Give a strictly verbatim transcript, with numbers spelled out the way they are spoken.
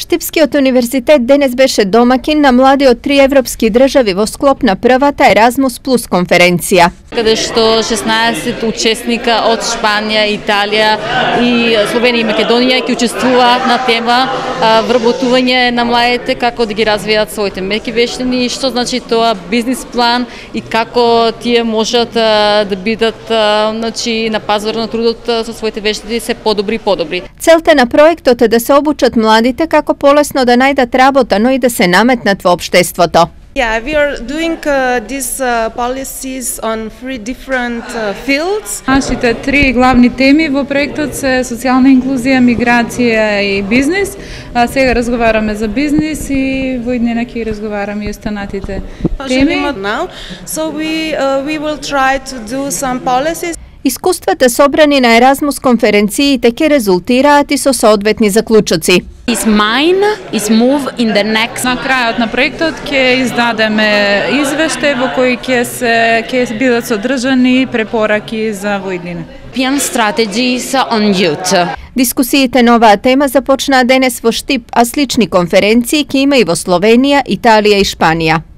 Штипскиот универзитет денес беше домакин на млади од три европски држави во склоп на првата Еразмус плюс конференција. Каде што шеснаесет учесника од Шпанија, Италија и Словенија и Македонија ќе учествуваат на тема вработување на младите, како да ги развијат своите меки вештини, што значи тоа бизнис план и како тие можат да бидат значи на пазар на трудот со своите вештини се подобри и подобри. Целта на проектот е да се обучат младите како полесно да најдат работа, но и да се наметнат во општеството. Yeah, we are doing uh, these uh, policies on three different uh, fields. Нашите три главни теми во проектот се социјална инклузија, миграција и бизнис. А сега разговараме за бизнис и во иднина ќе разговараме и останатите теми. Now, so we uh, we will try to do some policies. Искуствата собрани на Еразмус конференциите ќе резултираат и со соодветни заклучоци. Is mine is move in the next. На крајот на проектот ќе издадеме извештај во кој ќе се ќе бидат содржани препораки за во иднина. European strategies on youth. Дискусиите на оваа тема започнаа денес во Штип, а слични конференции ќе има и во Словенија, Италија и Шпанија.